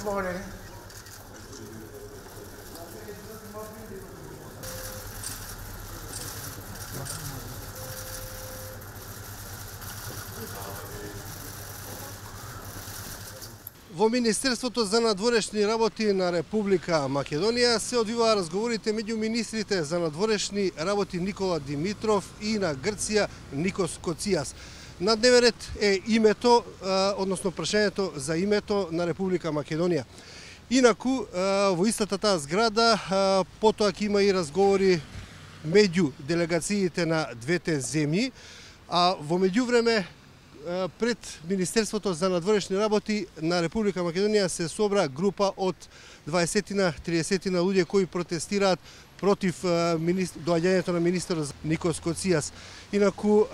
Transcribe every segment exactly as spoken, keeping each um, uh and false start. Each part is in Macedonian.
morning. Во Министерството за надворешни работи на Република Македонија се одвиваа разговорите меѓу министрите за надворешни работи Никола Димитров и на Грција Никос Коцијас. На дневен ред е името, односно прашањето за името на Република Македонија. Инаку, во истата таа зграда, потоа ќе има и разговори меѓу делегациите на двете земји, а во меѓувреме пред Министерството за надворешни работи на Република Македонија се собра група од дваесетина до триесетина луѓе кои протестираат против доаѓањето на министерот Никос Коцијас. Инаку,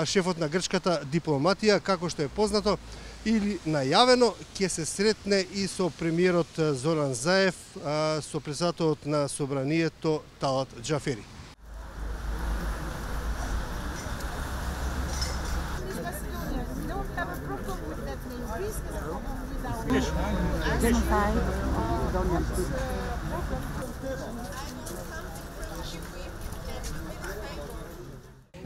шефот на грчката дипломатија, како што е познато или најавено, ќе се сретне и со премиерот Зоран Заев, со председателот на собранието Талат Џафери.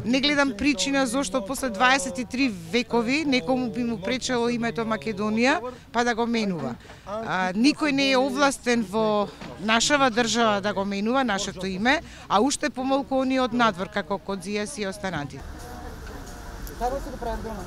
Не гледам причина зошто после дваесет и три векови некому би му пречело името Македонија па да го менува. А, никој не е овластен во нашава држава да го менува нашето име, а уште помалку оние од надвор како Коцијас и останати. Како се го прават дома?